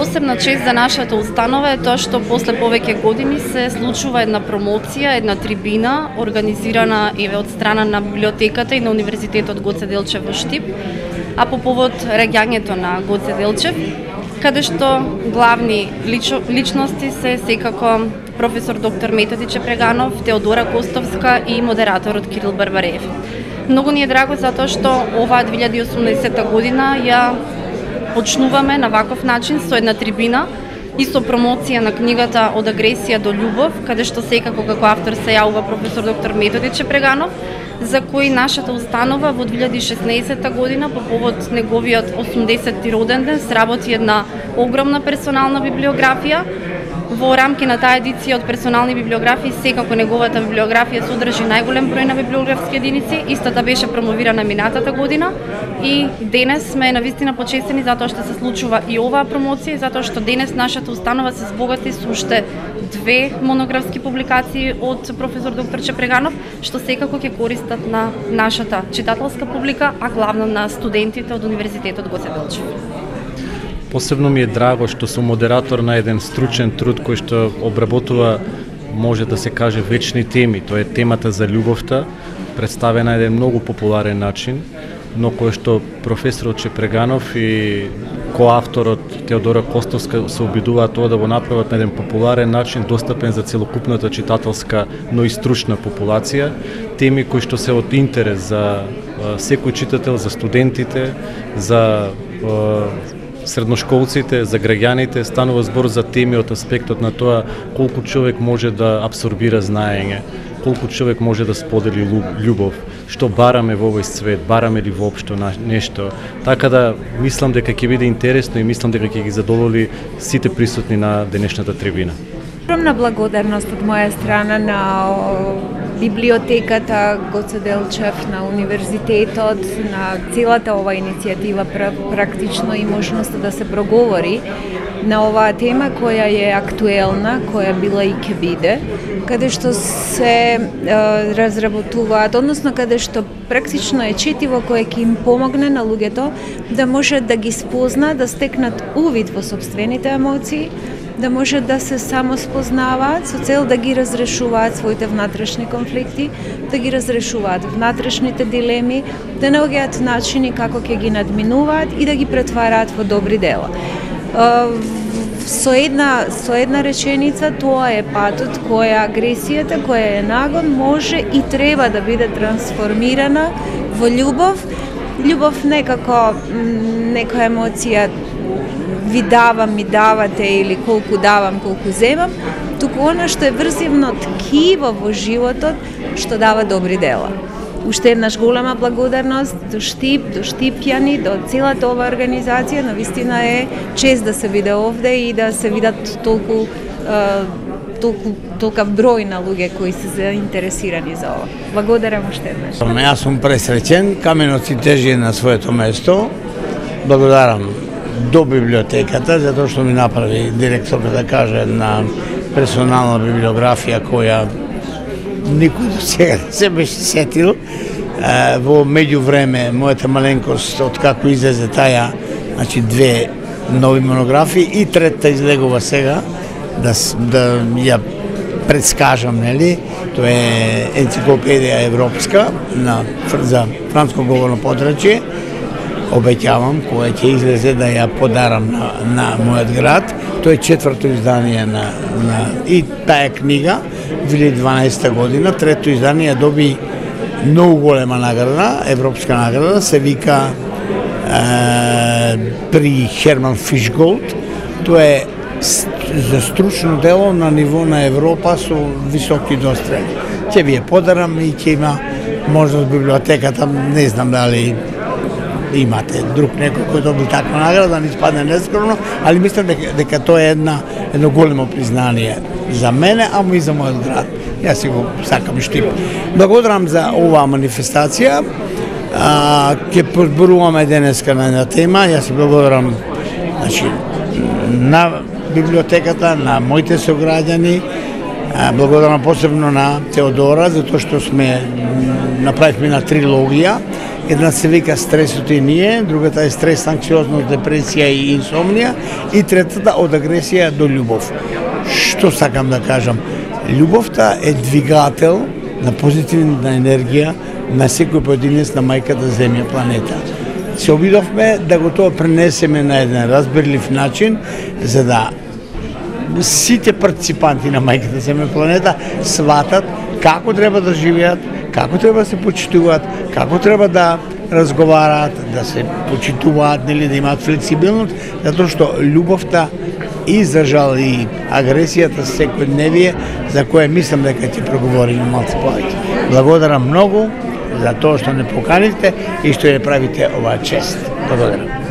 Посебна чест за нашата установа е тоа што после повеќе години се случува една промоција, една трибина, организирана од страна на библиотеката и на Универзитетот Гоце Делчев во Штип, а по повод раѓањето на Гоце Делчев, каде што главни личности се секако професор доктор Методи Чепреганов, Теодора Костовска и модераторот Кирил Барбареев. Многу ни е драго затоа што оваа 2018 година ја почнуваме на ваков начин со една трибина и со промоција на книгата Од агресија до љубов, каде што секако како автор се јавува професор доктор Методи Чепреганов, за кој нашата установа во 2016 година по повод неговиот 80-ти роден ден сработи една огромна персонална библиографија. Во рамки на таа едиција од персонални библиографии, секако неговата библиографија содржи најголем број на библиографски единици. Истата беше промовирана минатата година и денес сме навистина почестени затоа што се случува и оваа промоција и затоа што денес нашата установа се збогати со уште 2 монографски публикации од професор доктор Чепреганов, што секако ќе користат на нашата читателска публика, а главно на студентите од Универзитетот Гоце Делчев. Посебно ми е драго што сум модератор на еден стручен труд кој што обработува, може да се каже, вечни теми. Тоа е темата за љубовта, представена на еден многу популарен начин, но кој што професорот Чепреганов и коавторот Теодора Костовска се обидуваат тоа да го направат на еден популарен начин, достапен за целокупната читателска, но и стручна популација, теми кои што се од интерес за секој читател, за студентите, за средношколците, за граѓаните. Станува збор за теми од аспектот на тоа колку човек може да абсорбира знаење, колку човек може да сподели љубов, што бараме во овој свет, бараме ли воопшто нешто. Така да мислам дека ќе биде интересно и мислам дека ќе ги задоволи сите присутни на денешната трибина. Огромна благодарност од моја страна на библиотеката Гоце Делчев, на универзитетот, на целата ова иницијатива практично и можноста да се проговори на оваа тема која е актуелна, која била и ќе биде, каде што се разработуваат, односно каде што практично е четиво кое ќе им помогне на луѓето да може да ги спозна, да стекнат увид во сопствените емоции, да може да се самоспознаваат со цел да ги разрешуваат своите внатрешни конфликти, да ги разрешуваат внатрешните дилеми, да наоѓаат начини како ќе ги надминуваат и да ги претвараат во добри дела. Со една реченица, тоа е патот која агресијата, која е нагон, може и треба да биде трансформирана во љубов. Љубов некако некоја емоција ви давам, ми давате или колку давам, колку земам, туку она што е врзивно ткиво во животот, што дава добри дела. Уште еднаш голема благодарност до Штип, до штипјани, до целата ова организација. Навистина е чест да се биде овде и да се видат толков број на луѓе кои се заинтересирани за ова. Благодарам уште еднаш. Јас сум пресреќен, каменот си тежи на своето место. Благодарам до библиотеката, затоа што ми направи директорка да каже на персонална библиографија која никој до сега не се беше сетил. Во меѓувреме, мојата маленкост, откако излезе таја, значи 2 нови монографии и третата излегува сега, да ја предскажам, нели? Тоа е енциклопедија европска за франско говорно подрачје. Обеќавам, која ќе излезе да ја подарам на мојот град. Тоа е 4-то издание и таа книга, 2012 година. 3-то издание доби многу голема награда, европска награда, се вика при Херман Фишголд. Тоа е за стручно дело на ниво на Европа со високи дострели. Ќе ви ја подарам и ќе има можност библиотеката, не знам дали имате друг некој кој доби таква награда, да не испадне нескромно, али мислам дека тоа е едно големо признание за мене, ама и за мојот град. Јас си го сакам Штип. Благодарам за оваа манифестација. Ќе подборуваме денеска на една тема. Јас си благодарам на библиотеката, на моите сограѓани. Благодарам посебно на Теодора, затоа што направивме на трилогија. Една се вика стресот и ние, другата е стрес, анксиозност, депресија и инсомнија, и третата од агресија до љубов. Што сакам да кажам? Љубовта е двигател на позитивна енергија на секој поединец на мајката Земја, планета. Се обидовме да го тоа пренесеме на еден разбирлив начин, за да сите партиципанти на мајката Земја, планета сватат како треба да живеат, како треба да се почитуваат, како треба да разговараат, да се почитуваат, нели, да имаат флексибилност, затоа што љубовта и за жал и агресијата секојдневие, за која мислам дека ќе проговориме малку повеќе. Благодарам многу за тоа што не поканивте и што ја правите оваа чест. Благодарам.